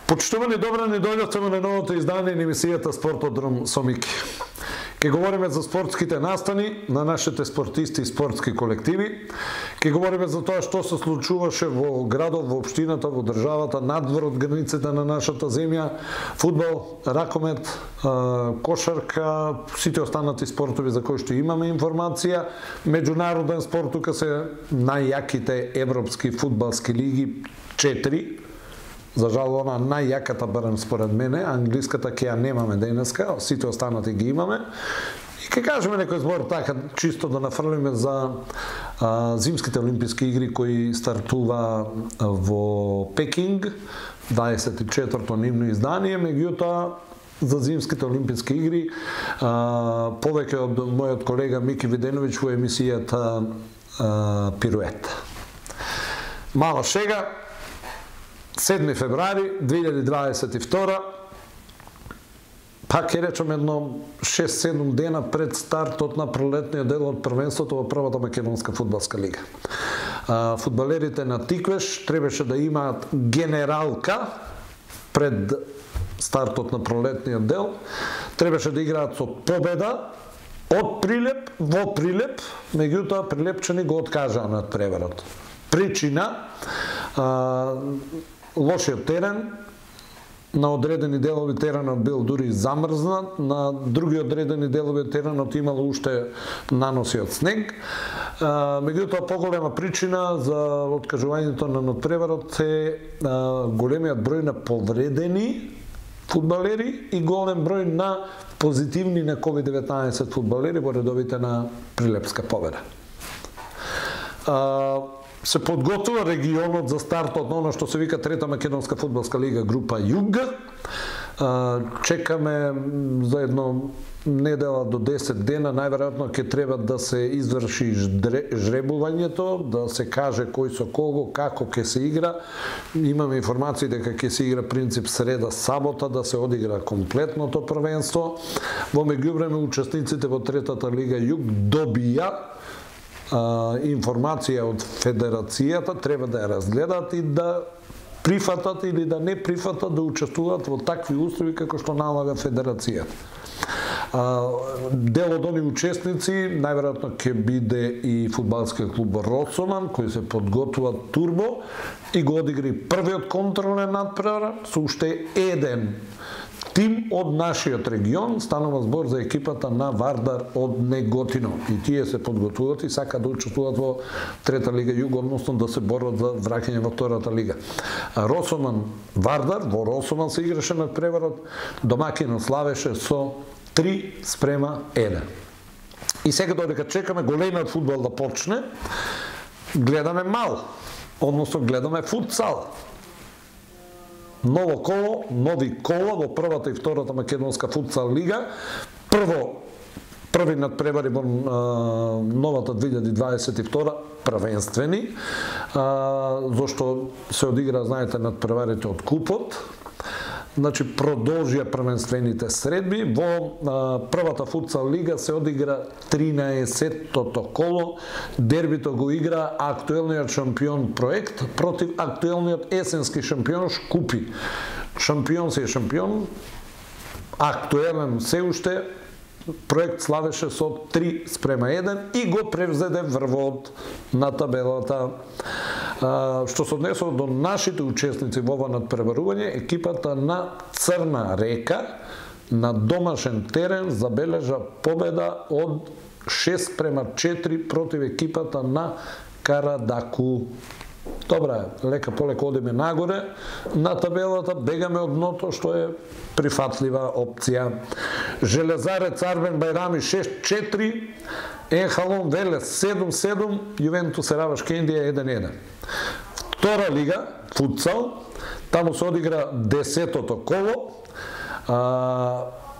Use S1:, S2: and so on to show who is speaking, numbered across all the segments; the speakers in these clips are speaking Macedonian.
S1: Почитувани, добра ни дојдовте на новото издание на емисијата Спортодром со Мики. Ке говориме за спортските настани на нашите спортисти и спортски колективи. Ке говориме за тоа што се случуваше во градот, во општината, во државата, надвор од границите на нашата земја, фудбал, ракомет, кошарка, сите останати спортови за кои што имаме информација. Меѓународен спорт, тука се најјаките европски фудбалски лиги, 4. За жал, она најјаката, барем според мене, англиската ќе ја немаме денеска, сите останати ги имаме. И ќе кажеме некој збор така, чисто да нафрлиме за зимските олимписки игри кои стартува во Пекинг, 24-то нивно издание, меѓутоа за зимските олимписки игри повеќе од мојот колега Мики Виденовиќ во емисијата Пирует. Мала шега, 7 февруари 2022, пак ќе речем едно 6-7 дена пред стартот на пролетниот дел од првенството во првата македонска фудбалска лига. Фудбалерите на Тиквеш требаше да имаат генералка пред стартот на пролетниот дел, требаше да играат со победа од Прилеп во Прилеп, меѓутоа прилепчани го откажаа на преварот. Причина лошиот терен, на одредени делови теренот бил дури замрзнат, на други одредени делови теренот имало уште наноси од снег. Меѓутоа, поголема причина за откажувањето на надпреварот е големиот број на повредени фудбалери и голем број на позитивни на COVID-19 фудбалери во редовите на Прилепска победа. Се подготвува регионот за стартот на оно што се вика Трета македонска фудбалска лига група Југ. Чекаме за едно недела до 10 дена, најверојатно ќе треба да се изврши жребувањето, да се каже кој со кого, како ќе се игра. Имаме информации дека ќе се игра принцип среда-сабота, да се одигра комплетното првенство. Во меѓувреме учесниците во Третата лига Југ добија информација од федерацијата, треба да ја разгледаат и да прифатат или да не прифатат да учествуваат во такви услови како што налага федерацијата. Дел од оние учесници најверојатно ќе биде и фудбалскиот клуб Росоман, кој се подготвува турбо и го одигри првиот контролен надпревар со уште еден тим од нашиот регион. Станува збор за екипата на Вардар од Неготино. И тие се подготвуваат и сакаат да учествуваат во Трета лига Југ, односно да се борат за враќање во Втората лига. Росоман Вардар, во Росоман се играше на преварот, домакинот славеше со 3:1. И сега додека чекаме големиот фудбал да почне, гледаме мал, односно гледаме футсал. Ново коло, нови кола во првата и втората македонска футсал лига. Први надпревари во новата 2022 првенствени, зашто се одигра, знаете, надпреварите од купот. Значи, продолжија првенствените средби. Во првата футсал лига се одигра 13-тото коло. Дербито го игра актуелниот шампион Проект против актуелниот есенски шампион Шкупи. Шампион се е шампион, актуелен се уште, Проект славеше со 3:1 и го превзеде врвот на табелата. Што се однесува до нашите учесници во ова надпреварување, екипата на Црна река на домашен терен забележа победа од 6:4 против екипата на Карадаку. Добра, лека полека одиме нагоре на табелата, бегаме од дното, што е прифатлива опција. Железарец Арбен Бајрами 6:4, Енхалон Велес 7:7, Јувентус Раваш Кендија 1:1. Втора лига, футсал, таму се одигра 10-тото коло.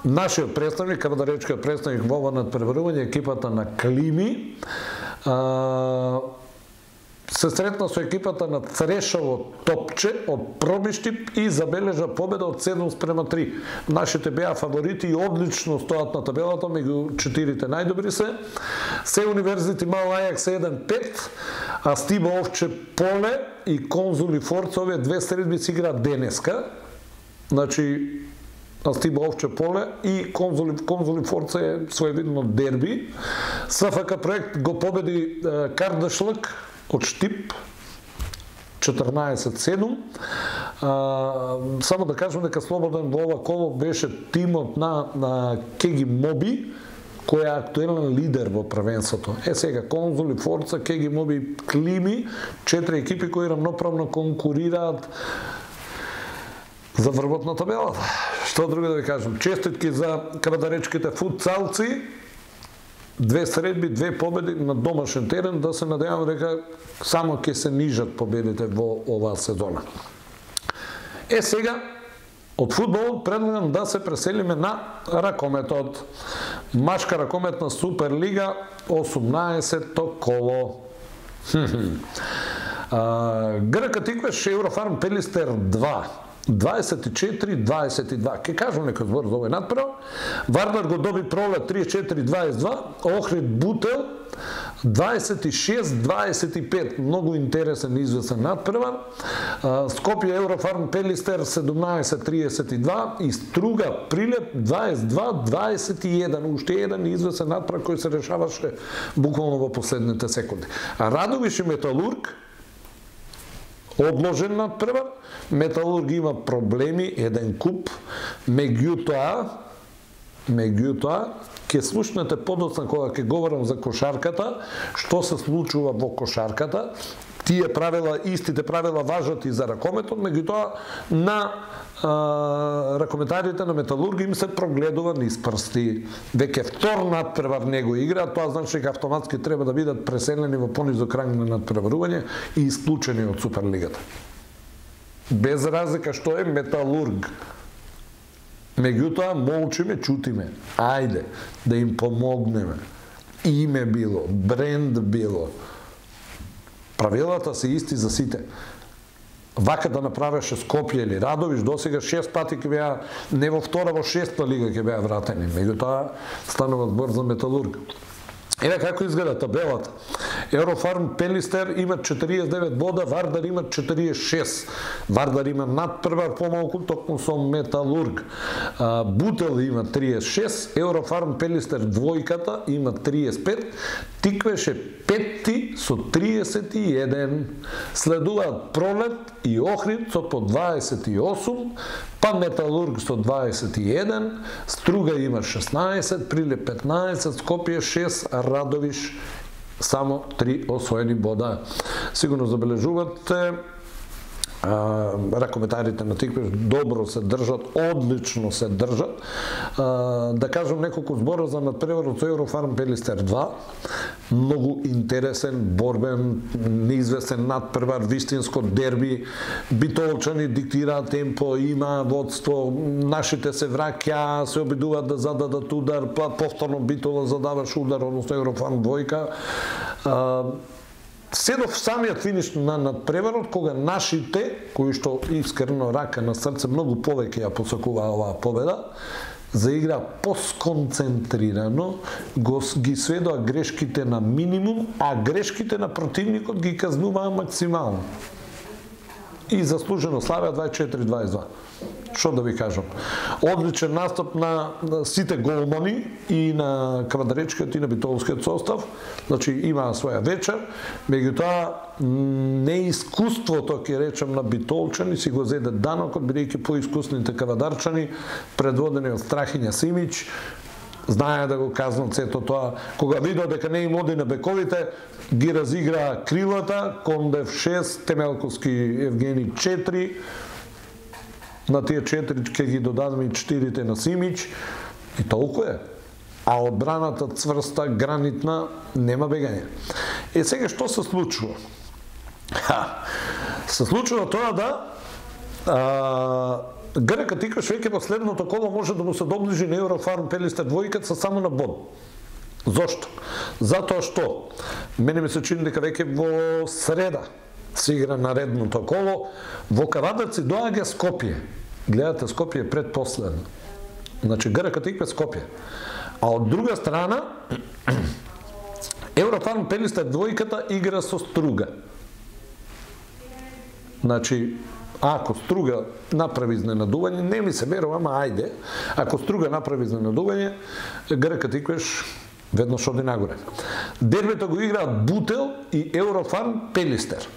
S1: нашиот представник, кавадаречкиот представник во ова надпреварување, екипата на Клими, се сретна со екипата на Црешово Топче од Пробиштип и забележа победа од 7-3. Нашите беа фаворити и одлично стојат на табелата, меѓу 4 најдобри се. Се Универзити Мал Ајакс 1-5, а Стиба Овче Поле и Конзули Форца, овие две средби се играат денеска. Значи, Стиба Овче Поле и Конзули Форца е своевидно дерби. СФК проект го победи Кардашлък од Штип 14-7. Само да кажем дека слободен во ова коло беше тимот на Кеги Моби, кој е актуелен лидер во првенството. Сега Конзули, Форца, Кеги Моби, Клими, 4 екипи кои рамноправно конкурираат за врвот на табелата. Што друго да ви кажем? Честитки за кавадаречките футсалци. 2 средби, 2 победи на домашен терен, да се надевам дека само ќе се нижат победите во оваа сезона. Сега, од фудбалот предлагам да се преселиме на ракометот. Машка ракометна Суперлига, 18-то коло. ГРК Тиквеш, Еврофарм Пелистер 2. 24-22. Ке кажам некој збор за овој надпревар. Вардар го доби Пролет 34-22, Охрид Бутел 26-25. Многу интересен и известен надпревар. Скопје Еврофарм Пелистер 17-32 и Струга Прилеп 22-21. Уште еден известен надпревар кој се решаваше буквално во последните секунди. Радовиш и Металург одложен надпревар. Металург има проблеми, еден куп, меѓутоа ќе слушнете подоцна кога ќе говорам за кошарката, што се случува во кошарката. Тие правила, истите правила важат и за ракометот, меѓутоа на ракометарите на Металург им се прогледува низ прсти. Веќе втор надпревар не го играат, тоа значи дека автоматски треба да бидат преселени во понизок ранг на надпреварување и исклучени од Суперлигата. Без разлика што е Металург. Меѓутоа, молчиме, чутиме. Ајде, да им помогнеме. Име било, бренд било. Правилата се исти за сите. Вака да направеше Скопје или Радовиш, досега 6 пати ќе беа, не во втора, во 6-та лига ќе беа вратени. Меѓутоа, станува збор за Металург. Еве како изгледа табелата. Еврофарм Пелистер има 49 бода, Вардар има 46. Вардар има надпревар помалку токму со Металург. Бутел има 36, Еврофарм Пелистер двојката има 35, Тиквеш е петти со 31. Следуваат Пролет и Охрид со по 28, па Металург со 21, Струга има 16, Прилеп 15, Скопје 6, Радовиш само 3 освоени бода. Сигурно забележувате, ракометарите на Тиквеш добро се држат, одлично се држат. Да кажам неколку збора за надпреварот со Еврофарм Пелистер 2. Многу интересен, борбен, неизвестен надпревар, вистинско дерби. Битолчани диктираат темпо, има водство, нашите се враќа, се обидуваат да зададат удар, па повторно Битола задаваш удар, односно Еврофарм двојка. Се до самиот финиш на надпреварот, кога нашите, кои што искрено рака на срце многу повеќе ја посакуваа оваа победа, заигра посконцентрирано, ги сведоа грешките на минимум, а грешките на противникот ги казнуваа максимално. И заслужено славеа 24-22. Што да ви кажам? Одличен настап на сите голмани и на квадречкиот и на битолскиот состав. Значи имаа своја вечер, меѓутоа неискуството, ќе речем, на битолчани си го зеде данокот, бидејќи поискусните кавадарчани, предводени од Страхиња Симич, знае да го казнат сето тоа. Кога видео дека не им оди на бековите, ги разигра крилата, Кондев 6, Темелковски Евгени 4, на тие 4 ќе ги додадеме и 4 на Симич, и толку е. А одбраната цврста, гранитна, нема бегање. Сега што се случува? Се случува тоа да ГРК Тиквеш веќе во следното коло може да му се доближи на Еврофарм Пелистер двојката само на bod. Зошто? Затоа што мене ми се чини дека веќе во среда се игра наредното коло, во Кавадарци доаѓа Скопје. Гледате, Скопје е предпоследно. Значи ГРК Тиквеш Скопје. А од друга страна Еврофарм Пелистер двојката игра со Струга. Значи, ако Струга направи изненадување, не ми се верува, ама ајде, ако Струга направи изненадување, ГРК Тиквеш веднаш оди нагоре. Дербито го играат Бутел и Еврофарм Пелистер.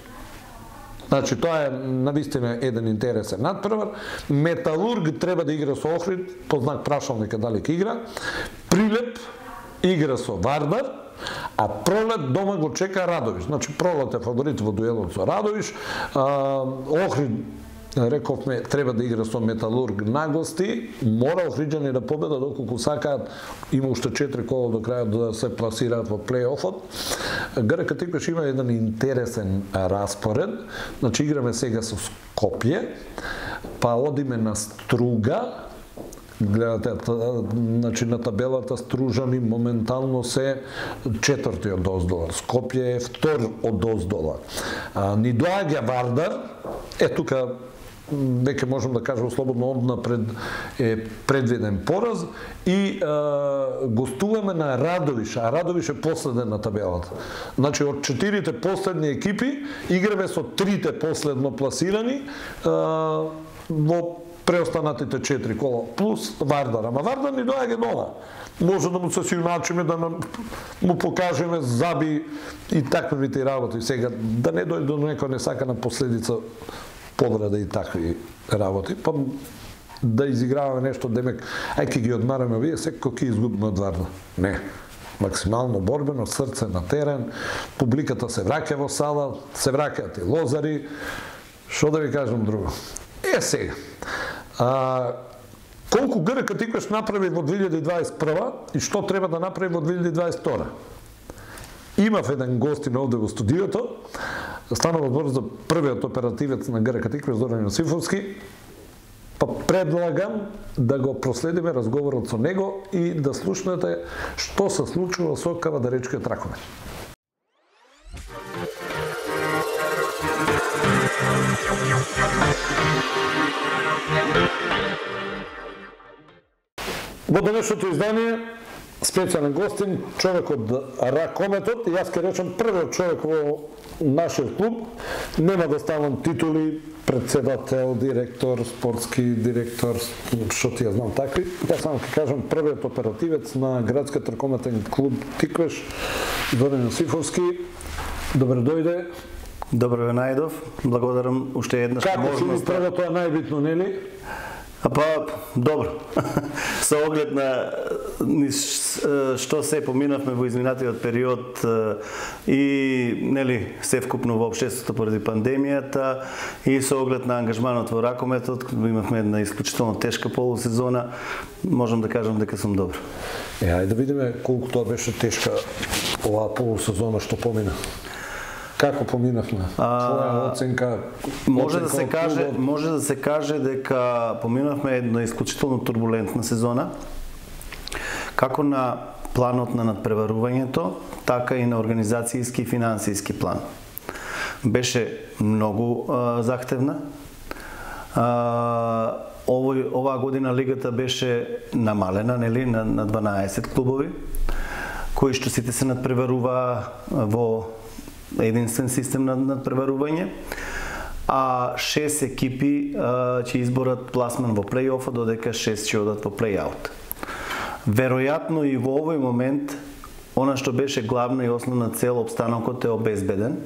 S1: Значи, тоа е навистина еден интересен надпревар. Металург треба да игра со Охрид, по знак прашалника дали ќе игра. Прилеп игра со Вардар, а Пролет дома го чека Радовиш. Значи, Пролет е фаворит во дуелот со Радовиш. Охрид, рековме, треба да игра со Металург на гости. Мора охриджани да победа доколку сакаат. Има уште 4 кола до крајот да се пласираат во плей-офот. ГРК Тиквеш има еден интересен распоред. Значи, играме сега со Скопје, па одиме на Струга. Гледате, значи на табелата Стружани моментално се четврти од оздола. Скопје е втор од оздола. Ни доаѓа Вардар, тука веќе можам да кажам слободно однапред е предвиден пораз и гостуваме на Радовиш, а Радовиш е последен на табелата. Значи од 4 последни екипи играме со 3 последно пласирани во преостанатите 4 кола плюс Вардар. Ама Вардар ни доаѓа дома. Може да му се сиуначиме, да му покажеме заби и таквите работи. Сега да не дојде до некој несакана последица повреда и такви работи, па да изиграваме нешто, демек, ајде ги одмараме вие, секој ќе изгубиме од Вардар. Не. Максимално борбено, срце на терен, публиката се враќа во сала, се враќаат и лозари. Што да ви кажам друго? Сега. Колку ГРК Тиквеш направи во 2021 и што треба да направи во 2022? Имав еден гостин овде во студиото, станува збор за првиот оперативец на ГРК Тиквеш, Зоран Јосифовски, па предлагам да го проследиме разговорот со него и да слушнете што се случува со Кавадаречкиот ракомет. Во денешното издание специјален гостин, човек од ракометот, и јас ќе речам првиот човек во нашиот клуб. Нема да ставам титули, председател, директор, спортски директор, што ти ја знам такви. Јас само ќе кажам првиот оперативец на градскиот ракометен клуб Тиквеш, Зоран Јосифовски. Добре дојде.
S2: Добро ве најдов. Благодарам уште еднаш
S1: можност. Како првото е најбитно, нели?
S2: Па, добро. Со оглед на што се поминавме во изминатиот период и нели се вкупно во општеството поради пандемијата и со оглед на ангажманот во ракометот, имавме една исклучително тешка полусезона, можам да кажам дека сум добро.
S1: Ајде да видиме колку тоа беше тешка оваа полусезона што помина. Како поминавме? Твоја оценка?
S2: Може да се каже дека поминавме една исклучително турбулентна сезона, како на планот на надпреварувањето, така и на организацијски и финансиски план. Беше многу захтевна. Оваа година лигата беше намалена, нели, на 12 клубови, кои што сите се надпреваруваа во единствен систем на надпреварување, а 6 екипи ќе изборат пласман во плей-оф, додека 6 ќе одат во плей-аут. Веројатно и во овој момент, она што беше главна и основна цел, обстанокот е обезбеден,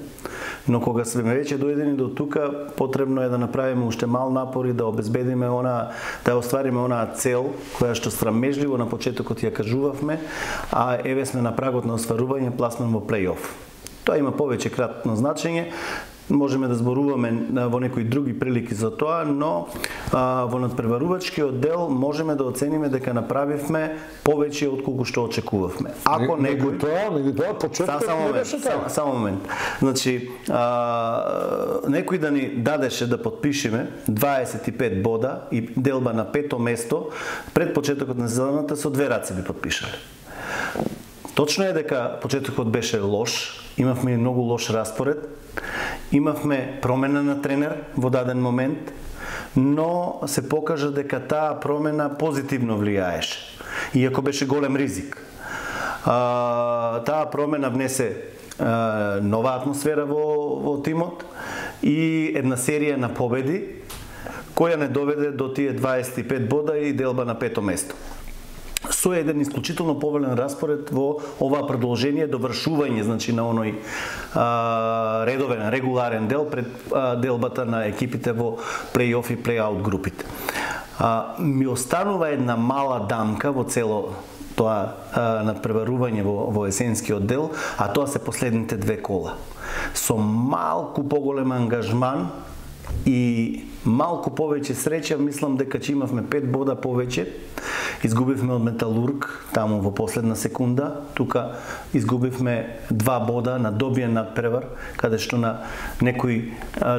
S2: но кога сме веќе дојдени до тука, потребно е да направиме уште мал напор и да обезбедиме да оствариме онаа цел која што срамежливо на почетокот ја кажувавме, а еве сме на прагот на остварување пласман во плей-оф. Тоа има повеќе кратно значење. можеме да зборуваме во некои други прилики за тоа, но во надпреварувачкиот дел можеме да оцениме дека направивме повеќе отколку што очекувавме. Ако некој
S1: тоа почетокот не беше така.
S2: Само момент. Значи, некој да ни дадеше да подпишеме 25 бода и делба на 5-то место пред почетокот на сезоната со 2 раце би подпишале. Точно е дека почетокот беше лош, имавме многу лош распоред, имавме промена на тренер во даден момент, но се покажа дека таа промена позитивно влијаеше, иако беше голем ризик. Таа промена внесе нова атмосфера во тимот и една серија на победи, која не доведе до тие 25 бода и делба на 5-то место. Со еден исклучително повелен распоред во ова продолжение, довршување, значи на оној редовен, регуларен дел пред делбата на екипите во плей-оф и плей-аут групите. Ми останува една мала дамка во цело тоа надпреварување во есенскиот дел, а тоа се последните 2 кола. Со малку поголем ангажман и малку повеќе среќа, мислам дека ќе имавме 5 бода повеќе. Изгубивме од Металург таму во последна секунда, тука изгубивме 2 бода на добиен надпревар, каде што на некои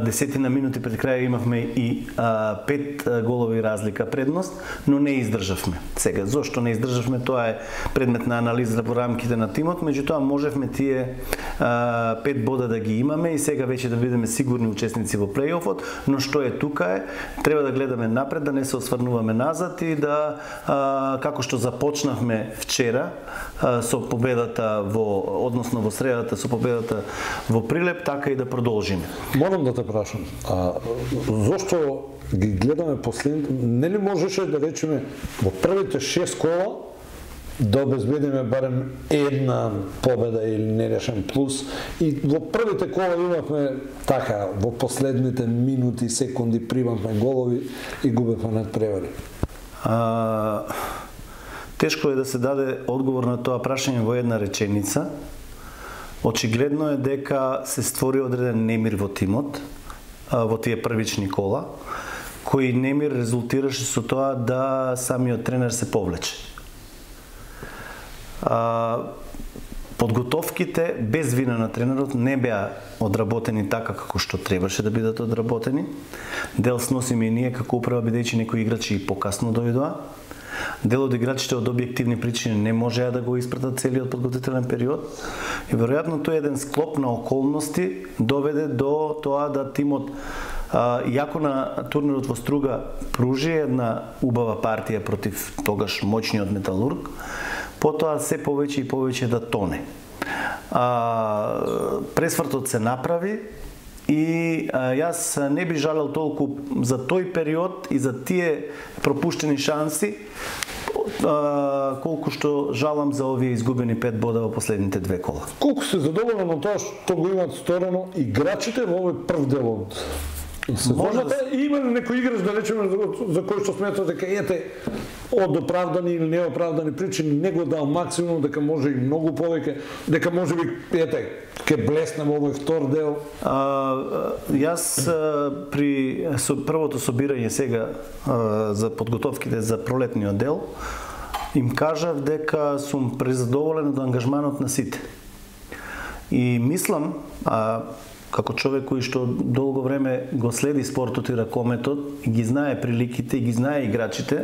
S2: десетина минути пред крај имавме и 5 голови разлика предност, но не издржавме. Сега, зошто не издржавме, тоа е предмет на анализа во рамките на тимот, меѓутоа можевме тие 5 бода да ги имаме и сега веќе да бидеме сигурни учесници во плей-офот, но што е тука е, треба да гледаме напред, да не се осврнуваме назад и да како што започнавме вчера со победата односно во средата со победата во Прилеп, така и да продолжиме.
S1: Морам да те прашам, зошто ги гледаме последните, нели можеше да речеме во првите 6 кола да обезбедиме барем една победа или нерешен плюс и во првите кола имавме така, во последните минути, секунди примавме голови и губевме надпревари.
S2: Тешко е да се даде одговор на тоа прашање во една реченица. Очигледно е дека се створи одреден немир во тимот, во тие првични кола, кој немир резултираше со тоа да самиот тренер се повлече. Подготовките без вина на тренерот не беа одработени така како што требаше да бидат одработени. Дел сносиме и ние како управа, бидејќи некои играчи и покасно дојдоа. Дел од играчите од објективни причини не можеа да го испратат целиот подготвителен период и веројатно тој еден склоп на околности доведе до тоа да тимот, иако на турнирот во Струга пружи една убава партија против тогаш моćниот Металург, потоа се повеќе и повеќе да тоне. Пресвртот се направи и јас не би жалел толку за тој период и за тие пропуштени шанси, колку што жалам за овие изгубени 5 бода во последните 2 кола.
S1: Колку се задоволен од тоа што го имаат сторено играчите во овој прв дел од сезоната? Има ли некој играч, да речеме, за кој што смета дека од оправдани или неоправдани причини не го дал максимум, дека може и многу повеќе, дека може би ќе блесне во овој втор дел?
S2: Јас при првото собирање сега за подготовките за пролетниот дел им кажав дека сум презадоволен од ангажманот на сите. И мислам, како човек кој што долго време го следи спортот и ракометот и ги знае приликите и ги знае играчите,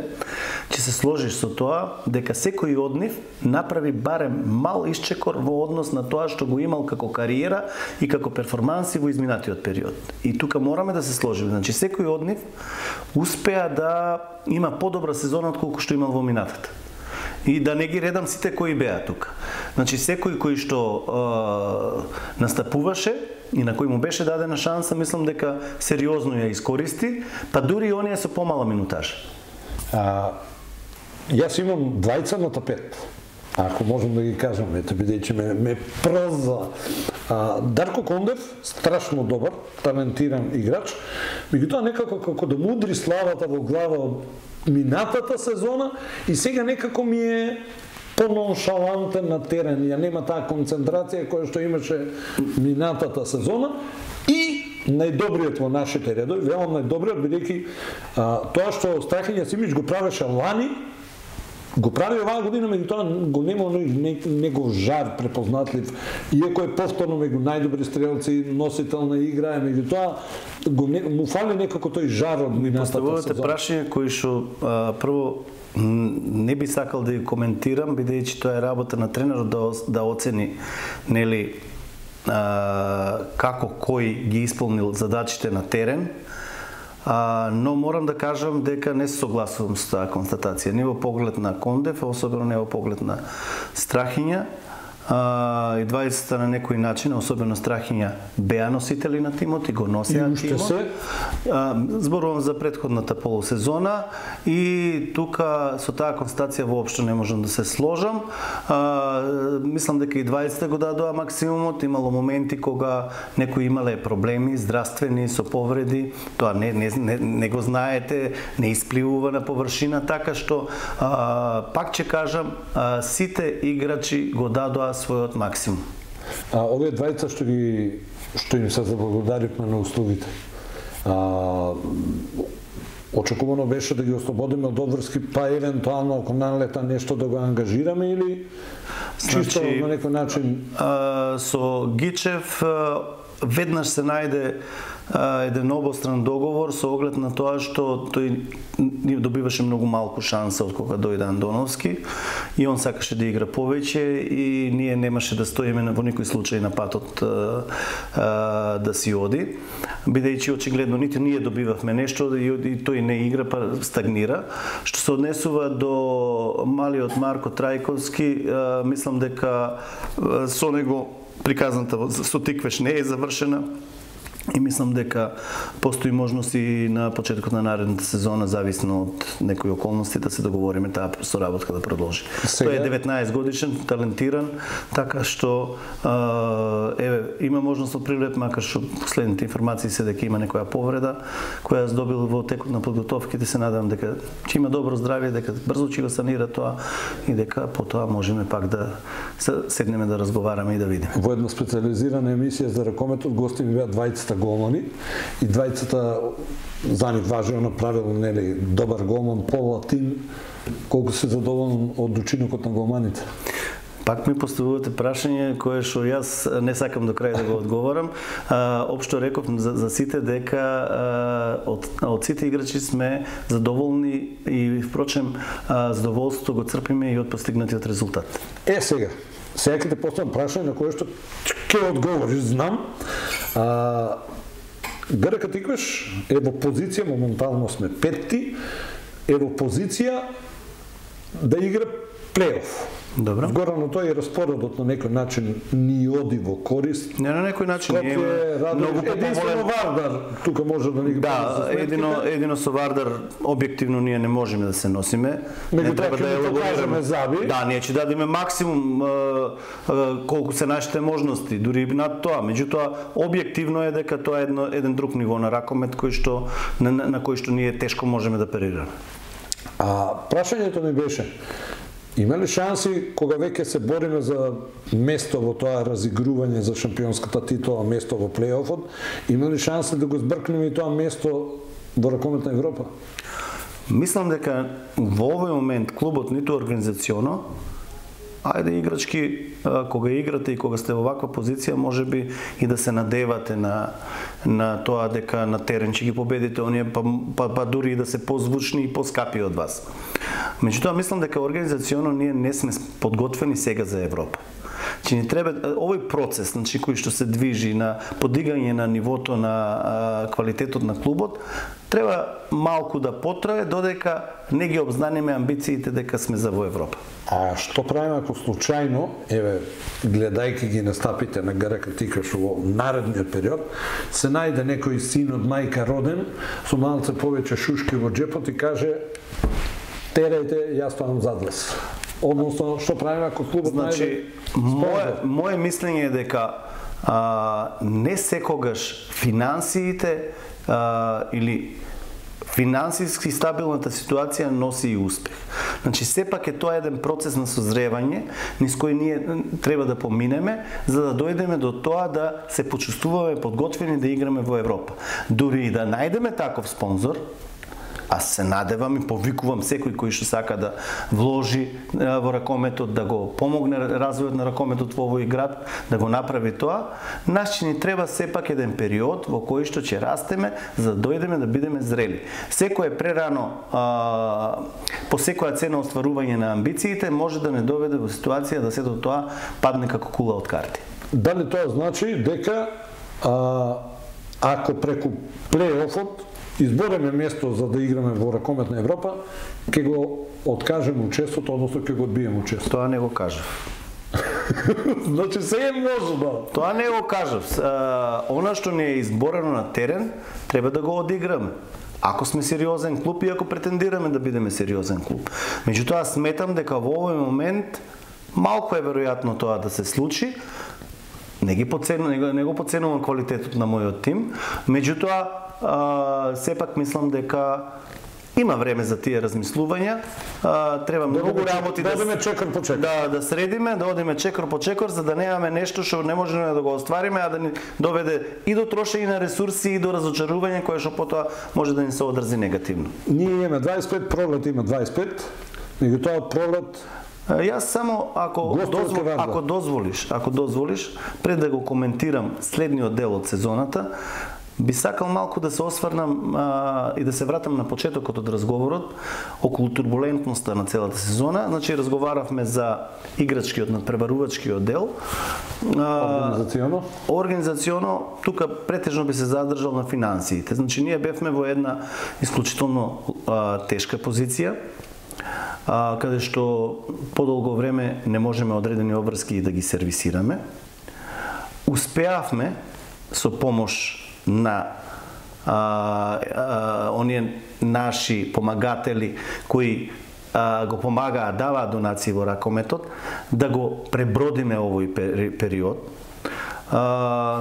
S2: ќе се сложиш со тоа дека секој од нив направи барем мал исчекор во однос на тоа што го имал како кариера и како перформанси во изминатиот период. И тука мораме да се сложиме. Значи секој од нив успеа да има подобра сезона од колку што имал во минатата. И да не ги редам сите кои беа тука. Значи секој кој што настапуваше и на кој му беше дадена шанса, мислам дека сериозно ја искористи, па дури и оние со помала минутажа.
S1: Јас имам двајца на тапет, ако можам да ги кажам, бидејќи ме проза. Дарко Кондев, страшно добар, талентиран играч, меѓутоа некако како да мудри славата во глава од минатата сезона и сега некако ми е пононшалантен на терен, ја нема таа концентрација која што имаше минатата сезона и најдобриот во нашите редови, велам најдобриот, бидејќи тоа што Страхиња Симич го правеше лани, го прави оваа година, меѓутоа го нема негов жар препознатлив, иако е повторно меѓу најдобри стрелци, носител на игра, меѓутоа му фали некако тој жар од минатата сезона.
S2: Поставувате прашање кои што прво не би сакал да ги коментирам, бидејќи тоа е работа на тренерот да оцени, нели, како кој ги исполнил задачите на терен. Но морам да кажам дека не се согласувам со таа констатација. Не во поглед на Кондев, а особено не во поглед на Страхиња. И двајцата на некој начин, особено Страхиња, беа носители на тимот и го носеа тимот. Зборувам за претходната полусезона и тука со таа констатација воопшто не можам да се сложам. Мислам дека и двајцата го дадоа максимумот, имало моменти кога некои имале проблеми здравствени со повреди, тоа не го знаете, не испливува на површина, така што пак ќе кажам, сите играчи го дадоа својот максимум.
S1: Овие двајца што им се заблагодаривме на услугите. Очекувано беше да ги ослободиме од обврски, па евентуално ако налета нешто да го ангажираме или чисто на некој начин?
S2: Со Гичев веднаш се најде еден обостран договор со оглед на тоа што тој добиваше многу малку шанса од кога дојде Андоновски и он сакаше да игра повеќе и ние немаше да стоиме во никој случај на патот да си оди, бидејќи очигледно нити ние добивавме нешто и тој не игра, па стагнира. Што се однесува до малиот Марко Трајковски, мислам дека со него приказната со Тиквеш не е завршена. И мислам дека постои можност и на почетокот на наредната сезона, зависно од некои околности, да се договориме таа соработка да продолжи. Тој е 19 годишен, талентиран, така што има можност од привлет, макар што последните информации се дека има некоја повреда која ја добил во текот на подготовките. Се надевам дека ќе има добро здравје, дека брзо ќе го санира тоа и дека потоа можеме пак да седнеме да разговараме и да видиме.
S1: Во една специализирана емисија за ракометот гости ми беа двајцата голмани и двајцата за нив важно направил, нели, добар голман, Пол Латин. Колку се задоволен од учинокот на голманите?
S2: Пак ми поставувате прашање кое што јас не сакам до крај да го одговорам. Општо реков за сите дека од сите играчи сме задоволни и впрочем задоволството го црпиме и од постигнатиот резултат.
S1: Сега ќе те поставам прашање на кое што ќе одговориш, знам. ГРК Тиквеш е во позиција, моментално сме петти, е во позиција да игра плейоф.
S2: Добро.
S1: Вгоре на тоа и распоредот на некој начин ни оди во корист.
S2: Не на некој начин
S1: е многу единствено Вардар тука може да ни ги
S2: едино со Вардар објективно ние не можеме да се носиме.
S1: Не треба да ја покажеме заби.
S2: Да, ние ќе дадеме максимум колку се нашите можности, дури и над тоа. Меѓутоа објективно е дека тоа е еден друг ниво на ракомет кој што на кој што ние тешко можеме да перираме.
S1: Прашањето ми беше: има ли шанси кога веќе се бориме за место во тоа разигрување за шампионската титула, место во плейофот, има ли шанси да го збркнеме и тоа место во ракометна Европа?
S2: Мислам дека во овој момент клубот ниту организационо, ајде играчки, кога играте и кога сте во ваква позиција, можеби и да се надевате на тоа дека на терен ќе ги победите оние, па дури и да се позвучни и поскапи од вас. Меѓутоа, мислам дека организационо ние не сме подготвени сега за Европа. Че ни треба овој процес, значи кој што се движи на подигање на нивото на квалитетот на клубот, треба малку да потрае додека не ги обзнаниме амбициите дека сме за во Европа.
S1: А што правиме ако случајно, гледајќи ги настапите на ГРК Тиквеш во наредниот период, се најде некој син од мајка роден со малце повеќе шушки во джепот и каже: терајте, јас ставам зад вас. Односно, што правиме ако клубот
S2: најде? Моje мислење е дека не секогаш финансиите или финансиски стабилната ситуација носи и успех. Значи, сепак е тоа еден процес на созревање, низ кој ние треба да поминеме, за да дојдеме до тоа да се почувствуваме подготвени да играме во Европа. Дури и да најдеме таков спонзор, аз се надевам и повикувам секој кој што сака да вложи во ракометот, да го помогне развојот на ракометот во овој град, да го направи тоа, нас ни треба сепак еден период во кој што ќе растеме за да дојдеме да бидеме зрели. Секој е прерано по секоја цена остварување на амбициите може да не доведе во ситуација да сето тоа падне како кула од карти.
S1: Дали тоа значи дека ако преку плей-офот избореме место за да играме во ракомет на Европа, ќе го откажеме учеството, односно ќе го одбиеме учеството?
S2: Тоа не го кажав.
S1: Значи се е можно.
S2: Тоа не го кажав. Она што не е изборено на терен, треба да го одиграме. Ако сме сериозен клуб и ако претендираме да бидеме сериозен клуб. Меѓутоа сметам дека во овој момент малку е веројатно тоа да се случи. Не го поценувам квалитетот на мојот тим, меѓутоа сепак мислам дека има време за тие размислувања. Треба многу работи
S1: да одиме чекор по чекор.
S2: Да средиме, да одиме чекор по чекор за да немаме нешто што не можеме да го оствариме, а да ни доведе и до трошење на ресурси и до разочарување кое што потоа може да ни се одрази негативно.
S1: Ние имаме 25, Пролет има 25. Меѓутоа Пролет
S2: Јас само ако дозволиш, пред да го коментирам следниот дел од сезоната, би сакал малку да се осврнам и да се вратам на почетокот од разговорот околу турбулентноста на целата сезона. Значи, разговаравме за играчкиот надпреварувачкиот дел. Организационо, тука претежно би се задржал на финансиите. Значи, ние бевме во една исклучително тешка позиција, каде што подолго време не можеме одредени обврски да ги сервисираме. Успеавме со помош на оние наши помагатели кои го помагаат, даваат донации во ракометот, да го пребродиме овој период.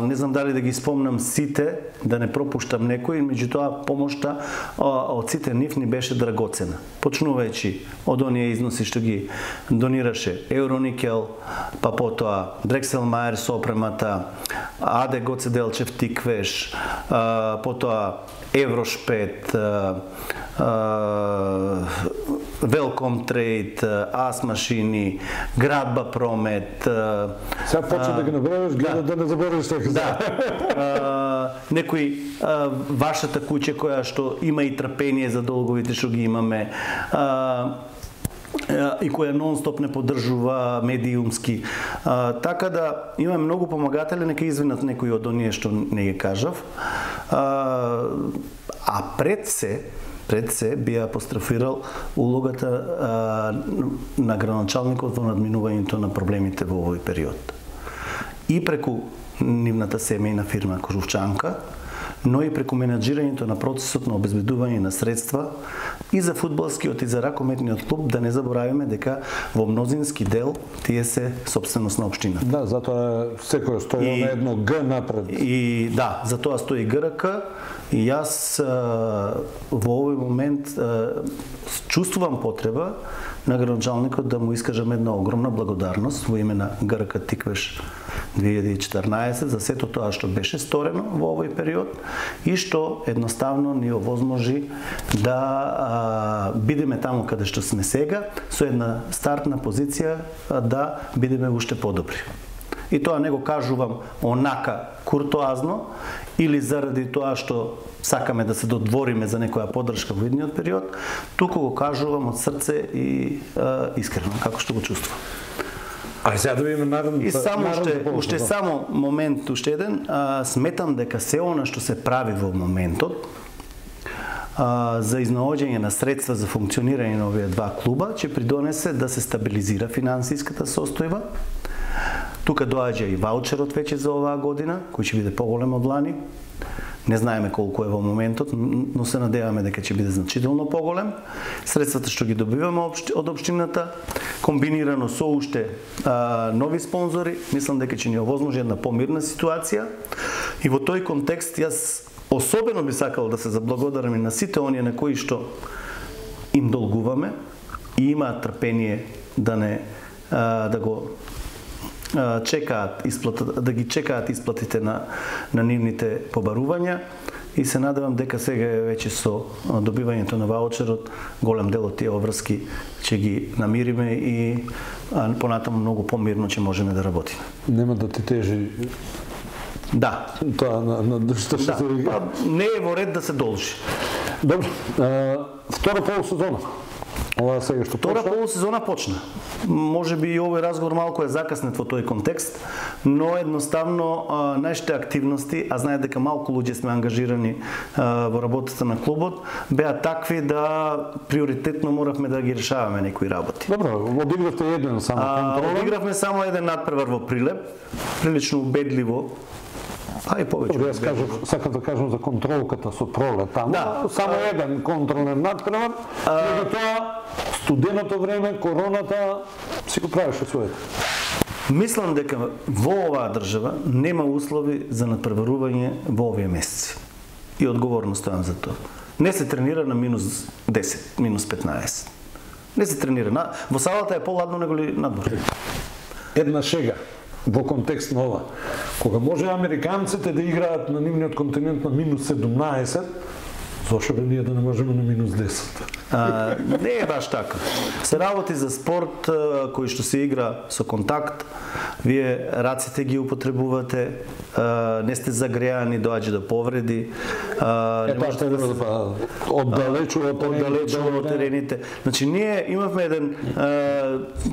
S2: Не знам дали да ги спомнам сите, да не пропуштам некој, меѓутоа помошта од сите нив ни беше драгоцена. Почнувајќи од оние износи што ги донираше Евроникел, па потоа Дрекселмајер со опремата, Аде Гоце Делчев Тиквеш, потоа Еврошпет, Велком Трейд, Ас Машини, Градба Промет.
S1: Сега почна да ги набројаш, да не заборавиш така.
S2: Да. Некои вашата куќа која што има и трпение за долговите што ги имаме, и која нон-стоп не поддржува медиумски. Така да има многу помагатели, нека извинат некои од оние што не ги кажав. А пред се би апострофирал улогата на градоначалникот во надминувањето на проблемите во овој период. И преку нивната семејна фирма Крушчанка, но и преку менаџирањето на процесот на обезбедување на средства и за фудбалскиот и за ракометниот клуб, да не забораваме дека во мнозински дел тие се собственост на општината.
S1: Да, затоа секој стои на едно Г напред.
S2: И да, затоа стои ГРК и јас во овој момент чувствувам потреба на градоначалникот да му искажам една огромна благодарност во име на ГРК Тиквеш 2014 за сето тоа што беше сторено во овој период и што едноставно ни овозможи да бидеме таму каде што сме сега со една стартна позиција да бидеме уште подобри. И тоа не го кажувам онака куртоазно или заради тоа што сакаме да се додвориме за некоја поддршка во идниот период, туку го кажувам од срце и искрено, како што го чувствувам.
S1: А сега да видиме наредното.
S2: И само уште само момент, уште еден, сметам дека се она што се прави во моментот за изнаоѓање на средства за функционирање на овие два клуба ќе придонесе да се стабилизира финансиската состојба. Тука доаѓа и ваучерот веќе за оваа година, кој ќе биде поголем од лани. Не знаеме колку е во моментот, но се надеваме дека ќе биде значително поголем. Средствата што ги добиваме од општината, комбинирано со уште нови спонзори, мислам дека ќе ни овозможи една помирна ситуација. И во тој контекст јас особено би сакал да се заблагодарам и на сите оние на кои што им долгуваме и имаат трпение да го чекаат исплатата, да ги чекаат исплатите на нивните побарувања, и се надевам дека сега веќе со добивањето на ваучерот голем дел од тие обврски ќе ги намириме и понатаму многу помирно ќе можеме да работиме.
S1: Нема да ти тежи.
S2: Да.
S1: Тоа на што се
S2: не е во ред да се должи.
S1: Добро. Втора полусезона. Ова сега што
S2: Втора полусезона почна. Може би и овој разговор малку е закаснет во тој контекст, но едноставно нашите активности, а знае дека малку луѓе сме ангажирани во работата на клубот, беа такви да приоритетно моравме да ги решаваме некои работи.
S1: Добро, одигравте еден само контролен.
S2: Одигравме само еден надпревар во Прилеп, прилично убедливо. И повеќе.
S1: Јас сакам да кажам за контролката со Пролет таму.
S2: Да.
S1: Само еден контролен надпревар, меѓутоа студеното време, короната си го правеше своето.
S2: Мислам дека во оваа држава нема услови за надпреварување во овие месеци. И одговорно стојам за тоа. Не се тренира на минус 10, минус 15. Не се тренира. Во салата е поладно него ли надвор.
S1: Една шега во контекст на ова. Кога може американците да играат на нивниот континент на минус 17, зошто бе ние да не можеме на минус 10?
S2: Не е баш така. Се работи за спорт кој што се игра со контакт, вие раците ги употребувате, не сте загреани, доаѓа до повреди, не можете да се
S1: оддалечува
S2: од терените. Значи ние имавме еден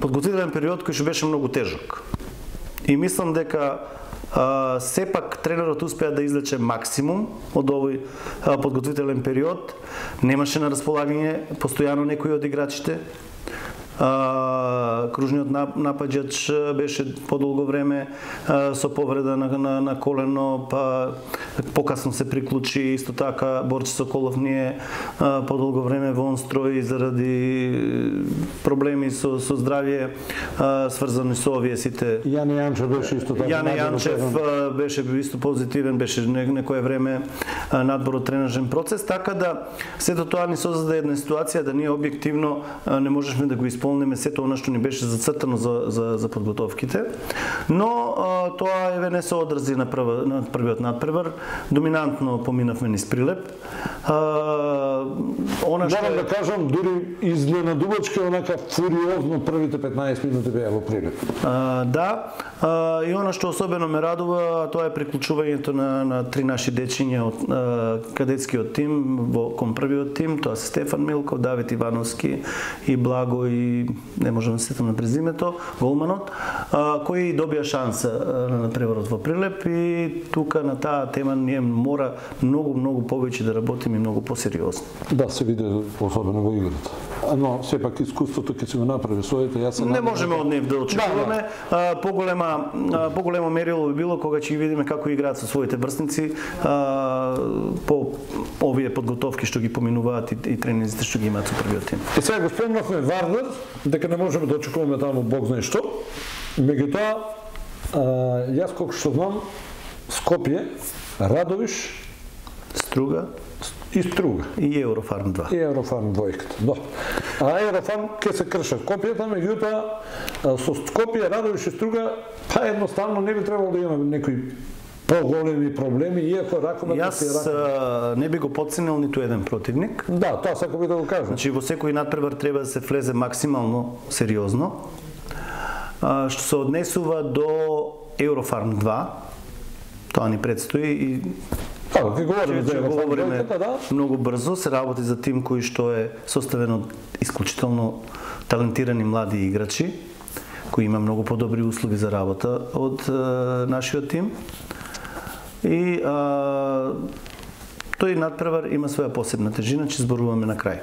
S2: подготвителен период кој што беше многу тежок. И мислам дека сепак тренерот успеа да извлече максимум од овој подготвителен период. Немаше на располагање постојано некои од играчите. Кружниот напаѓач беше подолго време со повреда на колено, па покасно се приклучи. Исто така Борче Соколов ние подолго време во онстрој заради проблеми со здравје сврзани со овие сите.
S1: Јане Јанчев беше исто така.
S2: Јане Јанчев беше исто позитивен, беше некое време надбор од тренажен процес, така да сето тоа ни создаде една ситуација да ние објективно не можешме да го исполниме сето она што ни беше зацртано за подготовките, но тоа еве не се одрази на првиот надпревар. Доминантно поминавме низ Прилеп.
S1: Морам да кажам, дури изненадувачки, онака фуриозно првите 15 минути беа во Прилеп.
S2: Да, и она што особено ме радува, тоа е приклучувањето на три наши дечиња од кадетскиот тим кон првиот тим, тоа се Стефан Милков, Давид Ивановски и Благо, и не можам да се сетам на презимето, голманот, кои добија шанса на надпреварот во Прилеп, и тука на таа тема ние мора многу повеќе да работиме и многу посериозно.
S1: Да, се види особено во играта. Но сепак искуството ќе се го направи своите.
S2: Не можеме од нив да очекуваме. Поголемо мерило би било кога ќе ги видиме како играат со своите врсници по овие подготовки што ги поминуваат и тренинзите што ги имаат со првиот тим.
S1: И сега го спомнавме Вардар, дека не можеме да очекуваме таму бог знае што. Меѓутоа, јас колку што знам, Скопје, Радовиш,
S2: Струга
S1: и Струга.
S2: И Еврофарм 2.
S1: И Еврофарм 2. Да. Еврофарм ќе се крша копијата, меѓутоа со Скопје, Радовиш и Струга, па едноставно не би требало да имаме некои поголеми проблеми, иако раковата си
S2: Јас не би го подценил ниту еден противник.
S1: Да, тоа сакам да го кажам.
S2: Значи во секој надпревар треба да се влезе максимално сериозно. Што се однесува до Еврофарм 2, тоа ни предстои и
S1: ќе говориме за Еврофарм 2, да.
S2: Многу брзо се работи за тим кој што е составен од исклучително талентирани млади играчи, кои има многу подобри услови за работа од нашиот тим. И тој надпревар има своја посебна тежина, че зборуваме на крај.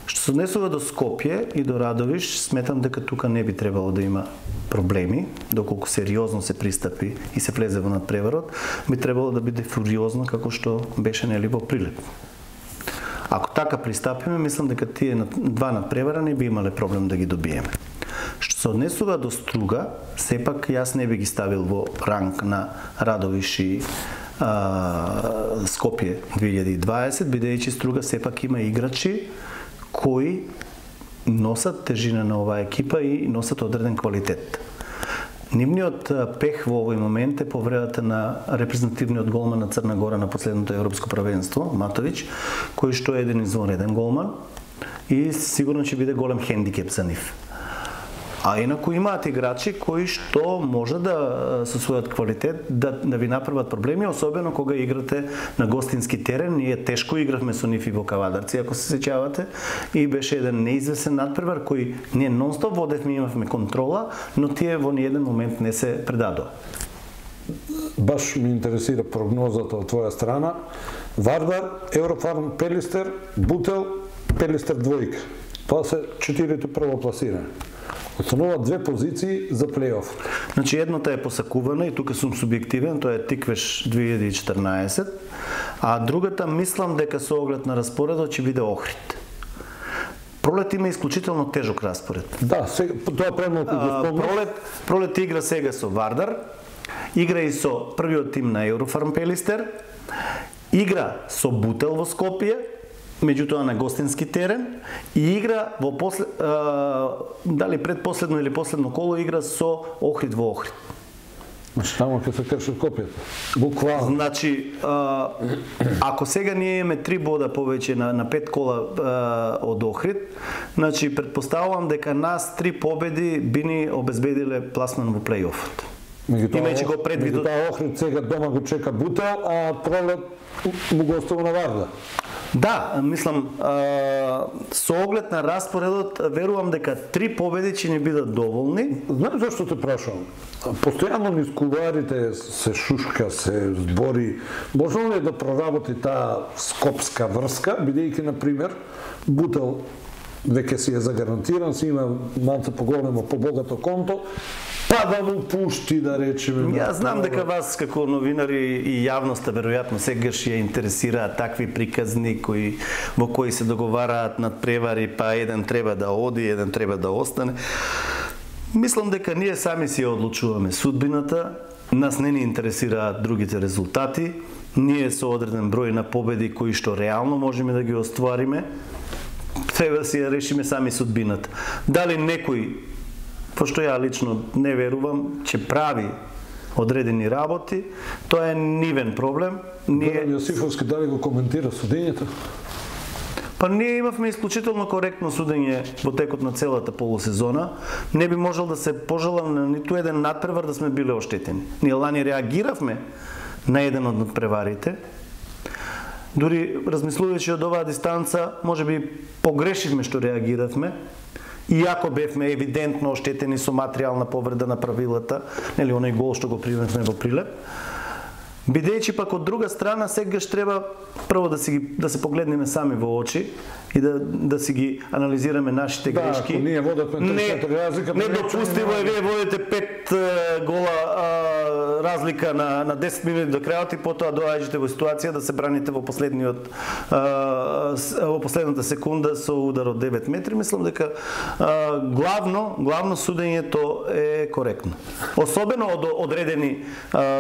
S2: Што се однесува до Скопје и до Радовиш, сметам дека тука не би требало да има проблеми, доколку сериозно се пристапи и се влезе во надпреварот, би требало да биде фуриозно како што беше нели во Прилеп. Ако така пристапиме, мислам дека тие два надпревара не би имале проблем да ги добиеме. Што се однесува до Струга, сепак јас не би ги ставил во ранг на Радовиш и Скопје 2020, бидејќи Струга сепак има играчи кои носат тежина на оваа екипа и носат одреден квалитет. Нивниот пех во овој момент е повредата на репрезентативниот голман на Црна Гора на последното европско првенство, Матовиќ, кој што е еден извонреден голман и сигурно ќе биде голем хендикеп за нив. А инаку имаат играчи кои што може да со својот квалитет да ви направат проблеми, особено кога играте на гостински терен. Ние тешко игравме со нив и во Кавадарци, ако се сеќавате, и беше еден неизвесен надпревар кој ние нонстоп водевме, имавме контрола, но тие во ниеден момент не се предадоа.
S1: Баш ми интересира прогнозата од твоја страна. Вардар, Еврофарм, Пелистер, Бутел, Пелистер двојка. Тоа се 4-те првопласирани. Остануваат 2 позиции за плейоф.
S2: Значи едната е посакувана и тука сум субјективен, тоа е Тиквеш 2014, а другата мислам дека со оглед на распоредот ќе биде Охрид. Пролет има исклучително тежок распоред.
S1: Да, тоа премалку го спомнав.
S2: Пролет игра сега со Вардар, игра и со првиот тим на Еврофарм Пелистер, игра со Бутел во Скопје, меѓутоа на гостински терен, и игра во дали предпоследно или последно коло игра со Охрид во Охрид.
S1: Значи таму ќе се крши копијата. Буквално.
S2: Значи ако сега ние имаме 3 бода повеќе на 5 кола од Охрид, значи предпоставувам дека нас 3 победи би ни обезбедиле пласман во плейофот. Имајќи го предвид,
S1: Охрид сега дома го чека Бутел, а Пролет му го остава на Вардар.
S2: Да, мислам, со оглед на распоредот, верувам дека 3 победи ќе ни бидат доволни.
S1: Знаеш зашто те прашувам? Постојано низ кулуарите се шушка, се збори. Може ли да проработи таа скопска врска, бидејќи, например, Бутел веќе си е загарантиран, си има малце поголемо, побогато конто, па да му пушти, да речеме.
S2: Јас знам дека вас како новинари и јавноста веројатно сегаш ја интересираат такви приказни во кои се договараат надпревари, па еден треба да оди, еден треба да остане. Мислам дека ние сами си ја одлучуваме судбината, нас не ни интересираат другите резултати, ние со одреден број на победи кои што реално можеме да ги оствариме, треба да си ја решиме сами судбината. Дали некој, пошто ја лично не верувам, че прави одредени работи, тоа е нивен проблем.
S1: Горан Јосифовски дали го коментира судењето?
S2: Па ние имавме исклучително коректно судење во текот на целата полусезона. Не би можел да се пожелам на ниту еден надпревар да сме биле оштетени. Ние лани реагиравме на еден од надпреварите. Дури размислувајќи од оваа дистанца, може би погрешивме што реагиравме. Иако бевме евидентно оштетени со материјална повреда на правилата, нели оној гол што го примевме во Прилеп. Бидејќи пак од друга страна сегаш треба прво да се погледнеме сами во очи и да си ги анализираме нашите грешки.
S1: Да, ние водевме 3-4 разлика.
S2: Недопустимо е вие водите 5 гола разлика на 10 минути до крајот и потоа доаѓате во ситуација да се браните во последната секунда со удар од 9 метри. Мислам дека главно судењето е коректно. Особено од одредени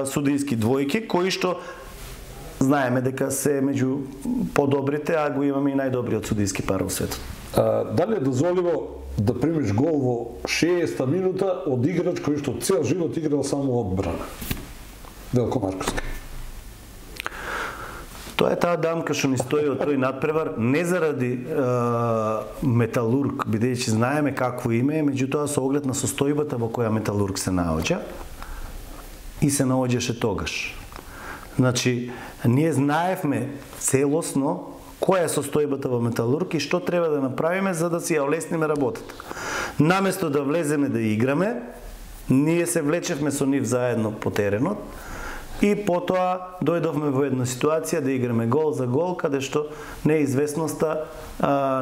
S2: судијски двојки кои што знаеме дека се меѓу подобрите, а го имаме и најдобриот судијски пар во светот.
S1: Дали е дозволиво да примиш гол во 60-та минута од играч кој што цел живот играл само одбрана? Велко Марковски.
S2: Тоа е таа дамка што ни стои од тој надпревар, не заради Металург, бидејќи знаеме какво име, меѓутоа со оглед на состојбата во која Металург се наоѓа и се наоѓаше тогаш. Значи, ние знаевме целосно која е состојбата во Металург и што треба да направиме за да си ја олесниме работата. Наместо да влеземе да играме, ние се влечевме со нив заедно по теренот и потоа дојдовме во една ситуација да играме гол за гол, каде што неизвестноста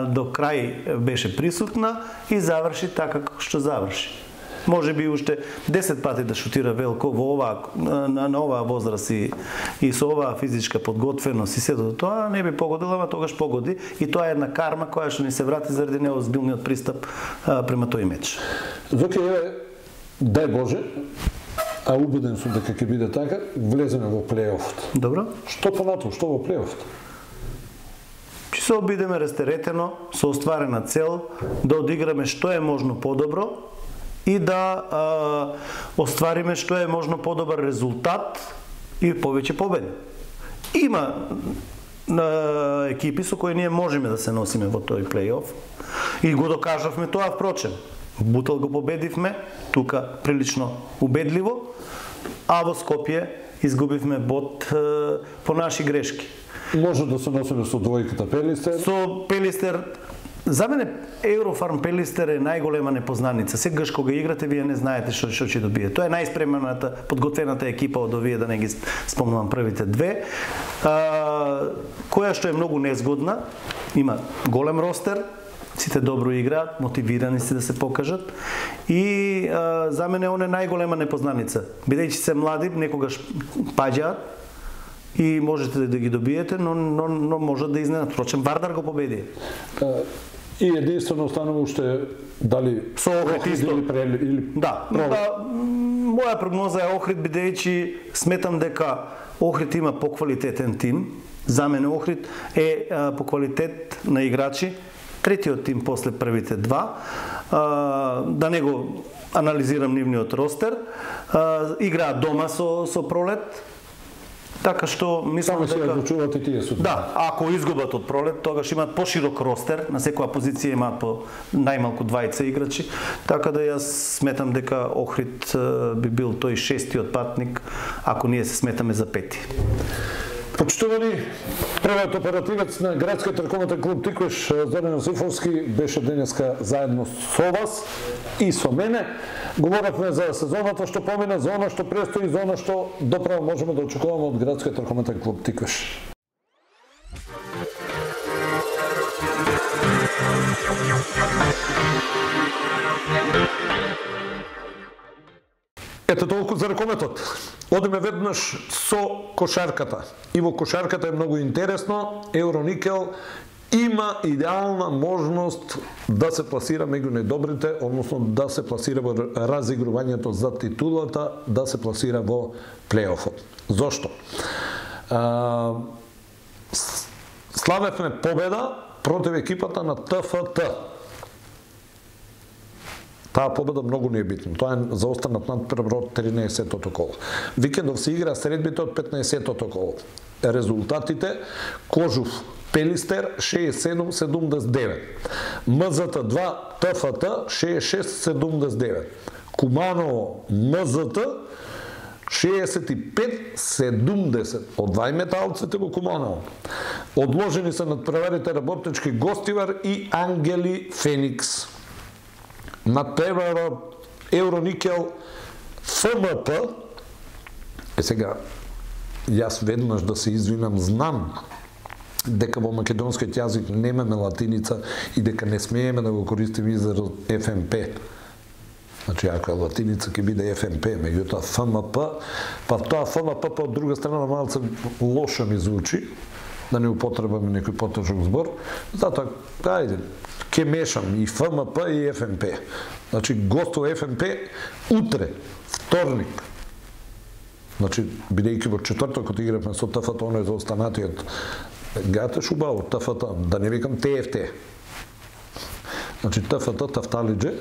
S2: до крај беше присутна и заврши така како што заврши. Може би уште 10 пати да шутира Велко на оваа возраст и со оваа физичка подготвеност и сето тоа не би погодила, ама тогаш погоди и тоа е една карма која што ни се врати заради неозбилниот пристап према тој меч.
S1: Зоки, дај Боже, а убеден сум дека ќе биде така, влеземе во плей-офот.
S2: Добро.
S1: Што понатаму, што во плей-офот?
S2: Ќе се обидеме растеретено, со остварена цел, да одиграме што е можно подобро и да оствариме што е можно подобар резултат и повеќе победи. Има екипи со кои ние можеме да се носиме во тој плей-оф и го докажавме тоа, впрочем. Бутел го победивме, тука прилично убедливо, а во Скопје изгубивме бод по наши грешки.
S1: Може да се носиме со двојката Пелистер?
S2: Со Пелистер, за мене Еврофарм Пелистер е најголема непознаница. Сегаш кога играте, вие не знаете што ќе добие. Тоа е најспремената, подготвената екипа од овие, да не ги спомнувам првите две, која што е многу незгодна, има голем ростер, сите добро играат, мотивирани се да се покажат и за мене он е најголема непознаница. Бидејќи се млади, некогаш паѓаат и можете да ги добиете, но можат да изненадат. Впрочем, Вардар го победи.
S1: И единствено останува уште дали
S2: со Охрид исто
S1: или
S2: да. Моја прогноза е Охрид, бидејќи сметам дека Охрид има поквалитетен тим. За мене Охрид е по квалитет на играчи третиот тим после првите два. Да не го анализирам нивниот ростер. Играат дома со Пролет. Така што мислам дека
S1: се одлучуваат и тие судби.
S2: Да, ако изгубат од Пролет, тогаш имаат поширок ростер, на секоја позиција имаат по најмалку 20 играчи, така да јас сметам дека Охрид би бил тој шестиот патник, ако ние се сметаме за пети.
S1: Почитувани, првиот оперативец на градскиот ракометен клуб Тиквеш, Зоран Јосифовски, беше денеска заедно со вас и со мене. Говоревме за сезоната што помина, за она што престои, за она што доправо можеме да очекуваме од градскиот ракометен клуб Тиквеш. Ето толку за ракометот. Одиме веднаш со кошарката. И во кошарката е многу интересно. Евроникел има идеална можност да се пласира меѓу најдобрите, односно да се пласира во разигрувањето за титулата, да се пласира во плей-офот. Зошто? Славевме победа против екипата на ТФТ. Таа победа многу не е битна. Тоа е заостанат надпревар од 13-тото коло. Викендов се игра средбите од 15-тото коло. Резултатите: Кожув Пелистер 67-79, МЗТ 2 ТФТ 66-79, Куманово МЗТ 65-70 од двајметалците во Куманово. Одложени се надпреварите Работнички Гостивар и Ангели Феникс. Надпреварот Евроникел ФМП. Сега, јас веднаш да се извинам, знам дека во македонскиот јазик немаме латиница и дека не смееме да го користиме изразот ФМП. Значи, ако е латиница, ќе биде ФМП, меѓутоа ФМП, па тоа ФМП па од друга страна малце лошо ми звучи, да не употребаме некој потежок збор, затоа, ајде, ќе мешам и ФМП и ФМП. Значи, гостува ФМП утре, вторник. Значи, бидејќи во четвртокот игравме со ТФТ, оној за останатиот гате шуба од ТФТ, да не викам ТФТ. Значи, ТФТ, Тафталиџе,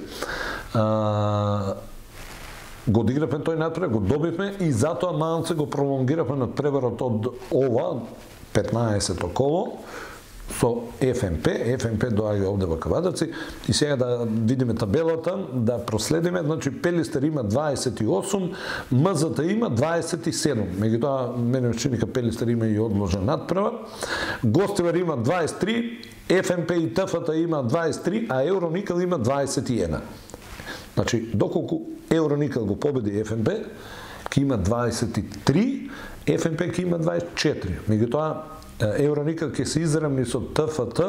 S1: го одигравме тој надпревар, го добивме и затоа малце го пролонгиравме надпреварот од ова 15-то коло со ФМП. ФМП доаѓа овде во Кавадарци и сега да видиме табелата, да проследиме. Значи, Пелистер има 28, МЗТ има 27. Меѓутоа, мене чини дека Пелистер има и одложен надпревар. Гостивар има 23, ФМП и ТФТ има 23, а Евроникел има 21. Значи, доколку Евроникел го победи ФМП, ќе има 23, ФМП ќе има 24. Меѓутоа, Евроникел ќе се изравни со ТФТ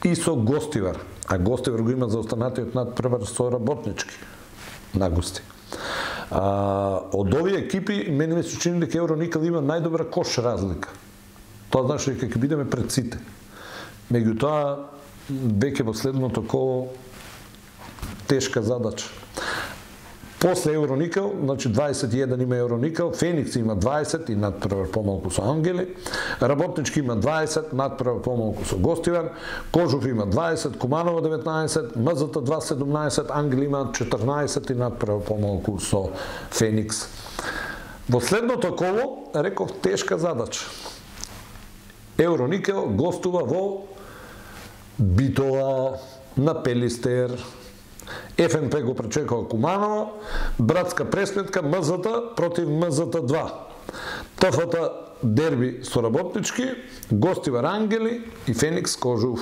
S1: и со Гостивар. А Гостивар го има за останатиот надпревар со Работнички на гости. Од овие екипи, мене ми се чини дека Евроникел има најдобра кош разлика. Тоа значи дека ќе бидеме пред сите. Меѓутоа, веќе во следното коло тешка задача. После Евроникел, значи 21 има Евроникел, Феникс има 20 и надпревар помалку со Ангели, Работнички има 20, надпревар помалку со Гостивар, Кожув има 20, Куманово 19, МЗТ-2 17, Ангели има 14 и надпревар помалку со Феникс. Во следното коло, реков, тешка задача. Евроникел гостува во Битола, на Пелистер, ФНП го пречекува Куманово, братска пресметка МЗТ против МЗТ-2. ТФТ дерби со Работнички, Гостивар Ангели и Феникс Кожув.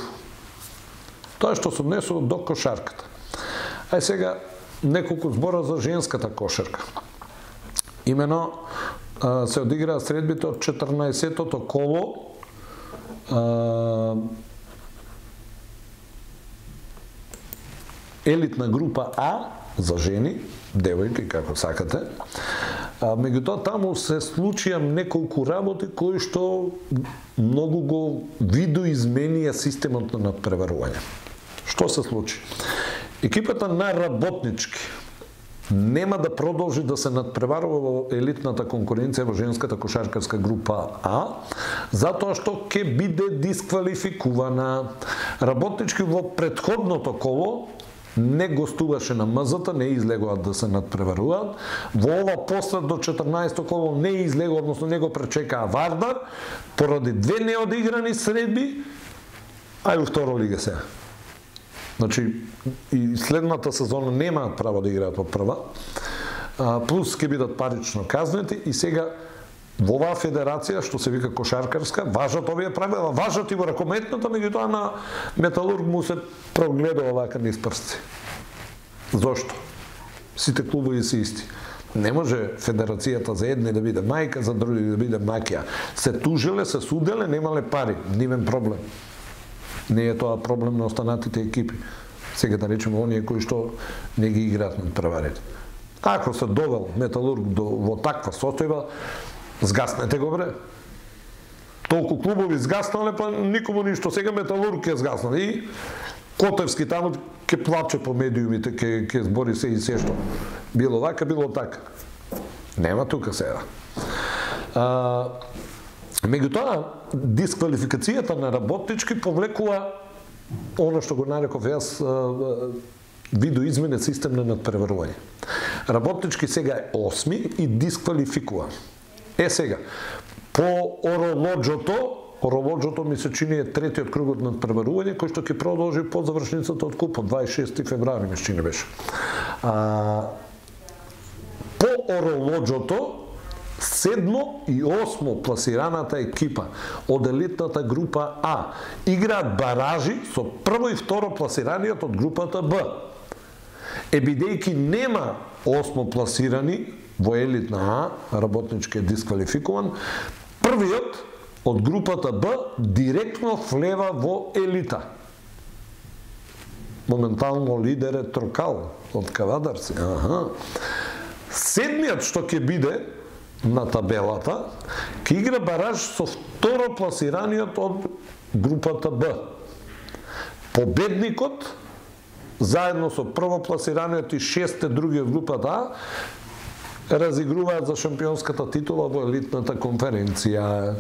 S1: Тоа што се однесува до кошарката. Ај сега неколку збора за женската кошарка. Имено се одиграа средбите од 14-тото коло елитна група А за жени, девојки како сакате. Меѓутоа таму се случија неколку работи кои што многу го видоизменија системот на надпреварување. Што се случи? Екипата на Работнички нема да продолжи да се надпреварува во елитната конкуренција во женската кошаркарска група А, затоа што ќе биде дисквалификувана. Работнички во претходното коло не гостуваше на МЗТ, не излегуваат да се надпреваруваат. Во ова после до 14-то коло не излегува, односно не го пречекаа Вардар, поради две неодиграни средби, а и во второ лига сега. Значи, и следната сезона немаат право да играат во прва, плюс ќе бидат парично казнети и сега во оваа федерација, што се вика кошаркарска, важат овие правила, важат и во ракометната, меѓутоа на Металург му се прогледува вака низ прсти. Зошто? Сите клубови се исти. Не може федерацијата за едни да биде мајка, за други да биде маќја. Се тужиле, се суделе, немале пари, нивен проблем. Не е тоа проблем на останатите екипи. Сега да речеме оние кои што не ги играат на преварите. Ако се довел Металург во таква состојба, згаснете го, бре. Толку клубови згаснале, па никому ништо. Сега Металург ќе згаснал. И Котевски таму ќе плаче по медиумите, ќе збори се и се што. Било вака, било така. Нема тука сега. Меѓутоа, дисквалификацијата на Работнички повлекува оно што го нареков јас видоизменет систем на надпреварување. Работнички сега е 8 и дисквалификува. Сега, по Оролоджото ми се чини е третиот кругот на надпреварување, кој што ќе продолжи по завршницата од купот, 26 февруари ми се чини беше. По Оролоджото, 7 и 8 пласираната екипа од елитната група А играат баражи со прво и второ пласираниот од групата Б. Бидејќи нема 8 пласирани во елитна А, Работнички е дисквалификуван, првиот од групата Б директно влева во елита. Моментално лидер е Трокал од Кавадарци. Седмиот што ќе биде на табелата, ќе игра бараж со второ пласираниот од групата Б. Победникот, заедно со прво пласираниот и 6 други од групата А, разигруваат за шампионската титула во елитната конференција.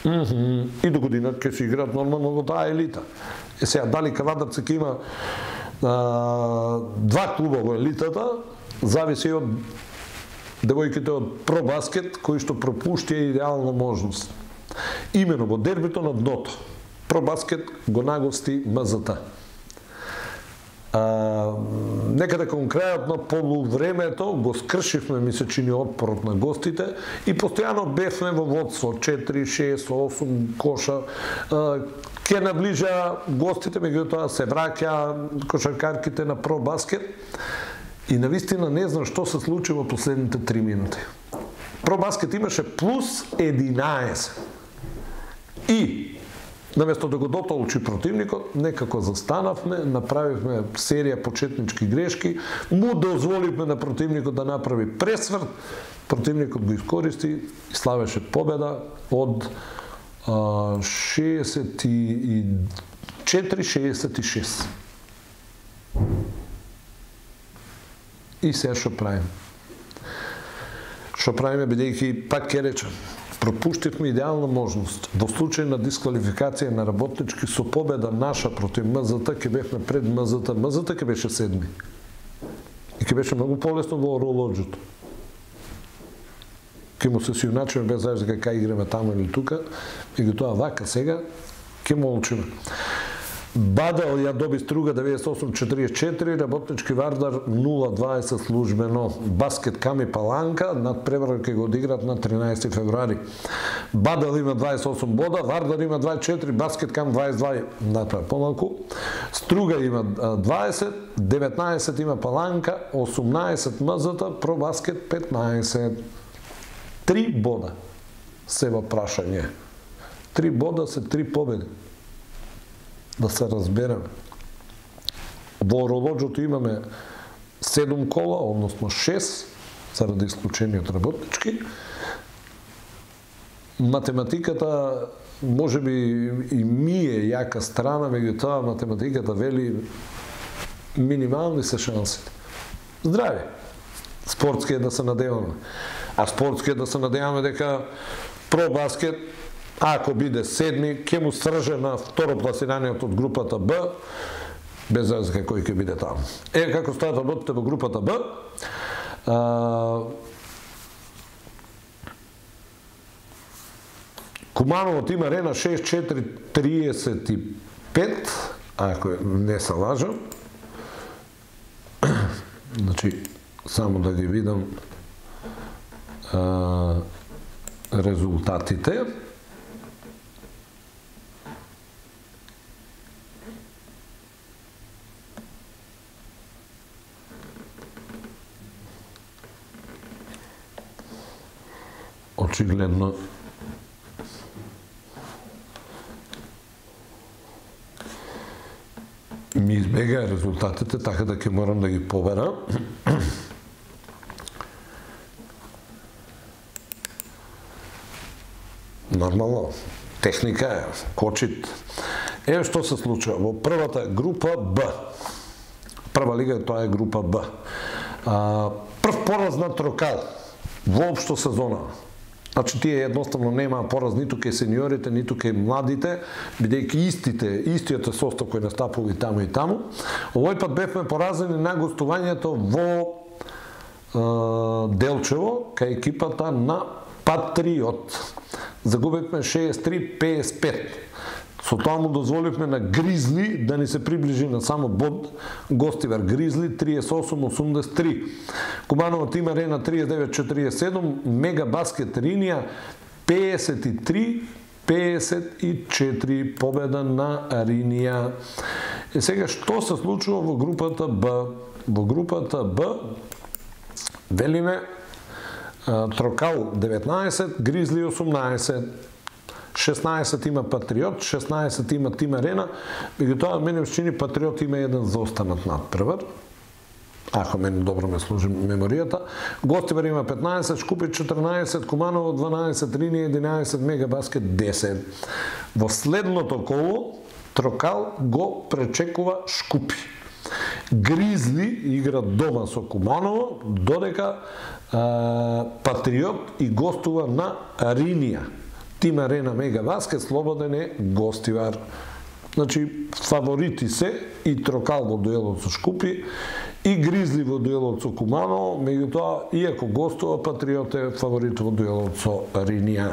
S1: И до година ќе се играат нормално во таа елита. Сега, дали Кавадарци ќе има 2 клуба во елитата, зависи од девојките од Пробаскет, кои што пропуштија идеална можност. Имено во дербито на дното. Пробаскет го нагости МЗТ. Некаде кон крајот на полувремето го скршивме, ми се чини, отпорот на гостите и постојано бевме во водство 4, 6, 8 коша. Ке наближа гостите, меѓутоа се враќа кошаркарките на Пробаскет и навистина не знам што се случи во последните 3 минути. Пробаскет имаше плюс 11. И наместо да го дотолчи противникот, некако застанавме, направивме серија почетнички грешки, му дозволивме на противникот да направи пресврт, противникот го искористи и славеше победа од 64-66. И сега што правим? Што правиме, бидејќи, пак ќе речем, пропуштивме идеална можност. Во случај на дисквалификација на работнички со победа наша против МЗТ, ќе бевме пред МЗТ. МЗТ ќе беше 7. И ќе беше многу полесно во оролоџето. Ке му се сиуначиме без разлика кај играме таму или тука, меѓутоа вака сега ке молчиме. Бадел ја доби Струга 98-44, Работнички Вардар 0-20 службено. Баскет Ками Паланка надпревар ќе го одиграат на 13 февруари. Бадел има 28 бода, Вардар има 24, Баскет Кам 22, натоа помалку. Струга има 20, 19 има Паланка, 18 МЗТ, Пробаскет 15. 3 бода се во прашање. 3 бода се 3 победи. Да се разбереме. Во оролоџето имаме 7 кола, односно 6, заради исклучение од работнички. Математиката можеби и ми е јака страна, меѓутоа математиката вели минимални се шансите. Здрави. Спортски е да се надеваме. А спортски е да се надеваме дека Пробаскет, ако биде 7, ќе му стрже на второпласираниот од групата Б, без разлика кој ќе биде таму. Како стојат работите во групата Б, Куманово има Арена 6-4-35, ако не се лажам. Значи, само да ги видам резултатите. Очигледно ми избега резултатите, така да ќе морам да ги побера. Нормално, техника е, кочит. Еве што се случува во првата група Б. Прва лига, тоа е група Б. Прв пораз на Трокал воопшто сезона. Значи, тие едноставно немаа пораз ниту кај сениорите, ниту кај младите, бидејќи истиот е состав кој настапува и таму и таму. Овој пат бевме поразени на гостувањето во Делчево, кај екипата на Патриот. Загубивме 63-55. Со тоа му дозволивме на Гризли да ни се приближи на само бод. Гостивар Гризли 38-83. Куманово има Арена 39-47. Мега Баскет Ринија 53-54. Победа на Ринија. И сега што се случува во групата Б? Во групата Б велиме Трокал 19, Гризли 18, 16 има Патриот, 16 има Тим Арена, меѓутоа мене ми се чини Патриот има еден заостанат надпревар, ако мене добро ме служи меморијата. Гостивар има 15, Шкупи 14, Куманово 12, Ринија 11, Мега Баскет 10. Во следното коло Трокал го пречекува Шкупи. Гризли игра дома со Куманово, додека Патриот и гостува на Ринија. Тим Арена Мега Баскет слободен е гостивар. Значи, фаворити се и Трокал во дуелот со Шкупи, и Гризли во дуелот со Куманово, меѓутоа, иако гостува, Патриот е фаворит во дуелот со Ринија.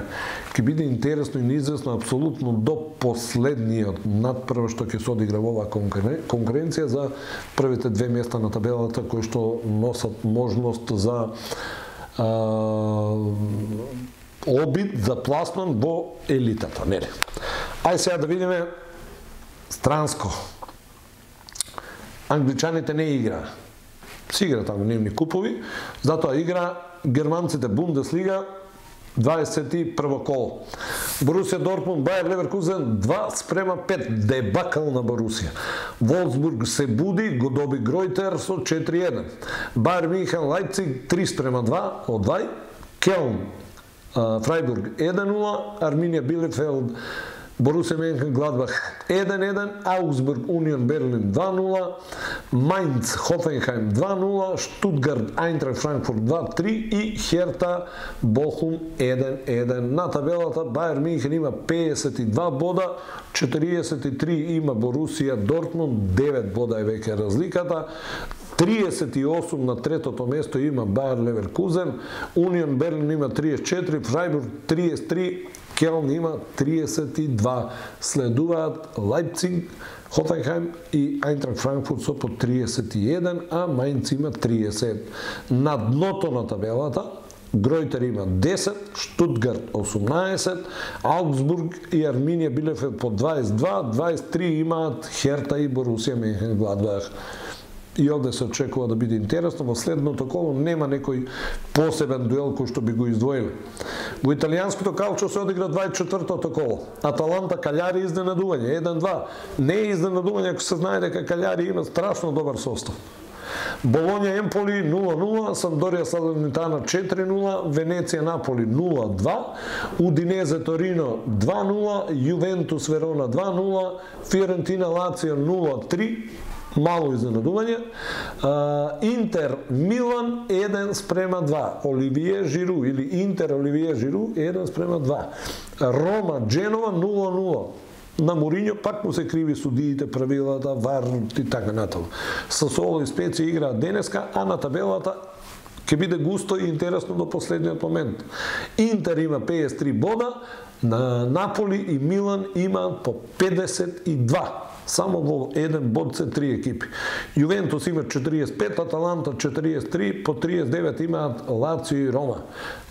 S1: Ке биде интересно и неизвестно апсолутно до последниот надпрв што ќе се одигра во оваа конкуренција за првите 2 места на табелата кои што носат можност за обид за пласман во елитата, нели? Ај сега да видиме странско. Англичаните не игра. Си игра таму дневни купови, затоа игра германците Бундеслига 21 коло. Борусија Дортмунд, Бајер Леверкузен 2-5, дебакал на Борусија. Волфсбург се буди, го доби Гройтер со 4-1. Бајер Мюнхен Лајпциг 3-2 од 2. Келн Фрајбург 1-0, Арминија Билефелд Борусија Менхенгладбах 1-1, Аугсбург Унион Берлин 2-0, Майнц Хофенхайм 2-0, Штутгарт Айнтрахт Франкфурт 2-3 и Херта Бохум 1-1. На табелата Бајер Минхен има 52 бода, 43 има Борусија Дортмунд, 9 бода е веќе разликата. 38 на третото место има Бајер Леверкузен, Унион Берлин има 34, Фрајбург 33, Келн има 32. Следуваат Лајпциг, Хофенхайм и Айнтрахт Франкфурт со по 31, а Мајнц има 30. На дното на табелата Гројтер има 10, Штутгарт 18, Аугсбург и Арминија Билефелд по 22, 23 имаат Херта и Борусија Менхенгладбах. И овде се очекува да биде интересно, во следното коло нема некој посебен дуел кој што би го издвоили. Во италијанското калчо се одигра 24-тото коло. Аталанта Каљари изненадување 1-2. Не е изненадување ако се знае дека Каљари има страшно добар состав. Болоња Емполи 0-0, Сандорија Салернитана 4-0, Венеција Наполи 0-2, Удинезе Торино 2-0, Јувентус Верона 2-0, Фиорентина Лацио 0-3, мало изненадување. Интер Милан 1-2. Оливие Жиру или Интер Оливие Жиру 1-2. Рома Дженова 0-0. На Мориньо пак му се криви судиите, правилата, вар и така натаму. Сасуоло и Специја играат денеска, а на табелата ќе биде густо и интересно до последниот момент. Интер има 53 бода, на Наполи и Милан имаат по 52. Само во еден bod се 3 екипи. Јувентус има 45, Аталанта 43, по 39 имаат Лацио и Рома.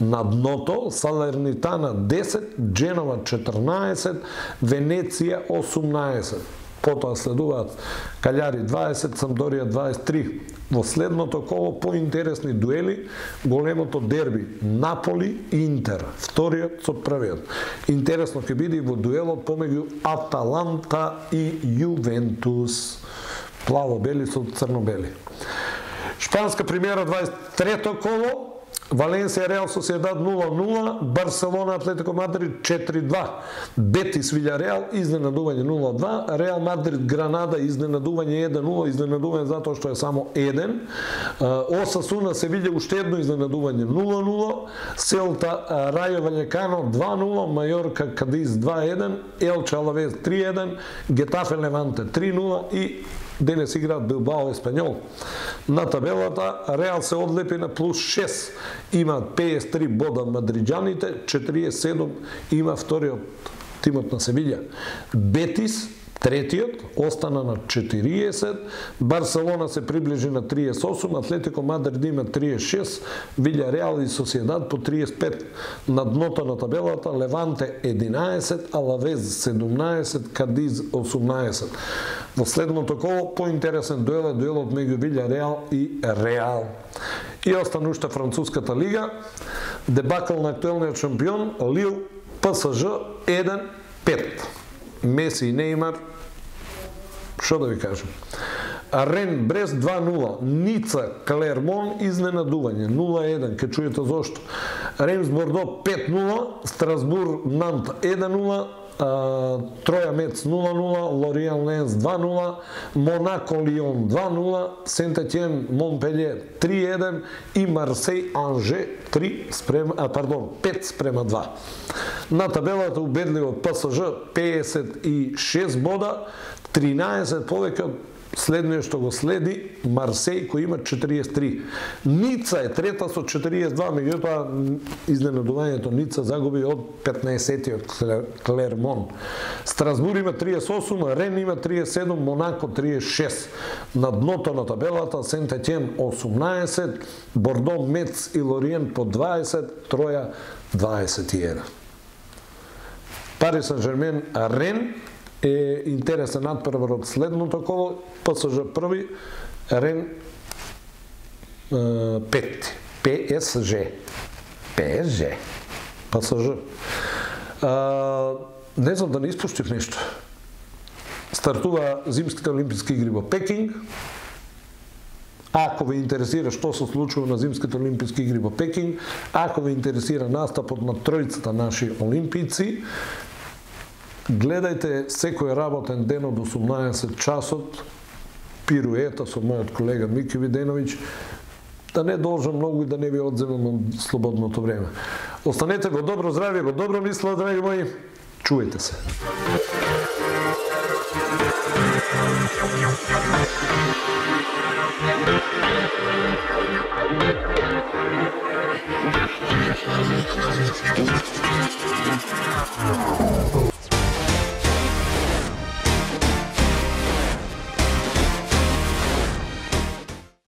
S1: На дното Салернитана 10, Дженова 14, Венеција 18. Потоа следуваат Каљари 20, Самдорија 23. Во следното коло поинтересни дуели, големото дерби Наполи-Интер, вториот со првиот. Интересно ќе биде во дуелот помеѓу Аталанта и Јувентус. Плаво-бели со црно-бели. Шпанска премиера 23-то коло, Валенсија Реал Соседад 0-0, Барселона Атлетико Мадрид 4-2, Бетис Вилјареал изненадување 0-2, Реал Мадрид Гранада изненадување 1-0, изненадување затоа што е само 1, Осасуна Севиља уште едно изненадување 0-0, Селта Рајо Ваљекано 2-0, Мајорка Кадиз 2-1, Елче Алавез 3-1, Гетафе Леванте 3-0 и денес играат Билбао Еспањол. На табелата Реал се одлепи на плюс 6. Имаат 53 бода мадриџаните, 47 има вториот тимот на Севиља. Бетис, третиот, остана на 40, Барселона се приближи на 38, Атлетико Мадрид има 36, Вилјареал и Соседад по 35. На дното на табелата Леванте 11, Алавез 17, Кадиз 18. Во следното коло поинтересен дуел е дуелот меѓу Вилјареал и Реал. И остана уште француската лига, дебакл на актуелниот шампион Лил ПСЖ 1-5. Меси и Неймар, што да ви кажем. Рен Брест 2-0, Ница Клермон изненадување 0-1, ке чуете зошто. Реймс Бордо 5-0, Страсбур Нант 1-0, Троја Мец 0-0, Лориан Ленс 2-0, Монако Лион 2-0, Сент-Етиен Монпелје 3-1 и Марсеј Анже 5-2. На табелата убедливо ПСЖ 56 бода, 13 повеќе од следниот што го следи Марсеј кој има 43. Ница е трета со 42, меѓутоа изненадувањето Ница загуби од 15-тиот Клермон. Страсбур има 38, Рен има 37, Монако 36. На дното на табелата Сент-Етиен 18, Бордо, Мец и Лориен по 20, Троја 21. Пари Сен-Жермен Рен е интересен надпревар од следното коло, ПСЖ први, Рен пети, ПСЖ. Не знам да не испуштив нешто. Стартува зимските олимписки игри во Пекинг. Ако ве интересира што се случува на зимските олимписки игри во Пекинг, ако ве интересира настапот на тројцата наши олимпијци, гледајте секој работен ден од 18 часот, пируета со мојот колега Мики Виденовиќ, да не должам многу и да не ви одземам од слободното време. Останете во добро здравје, во добро мисло, драги мои, чујте се.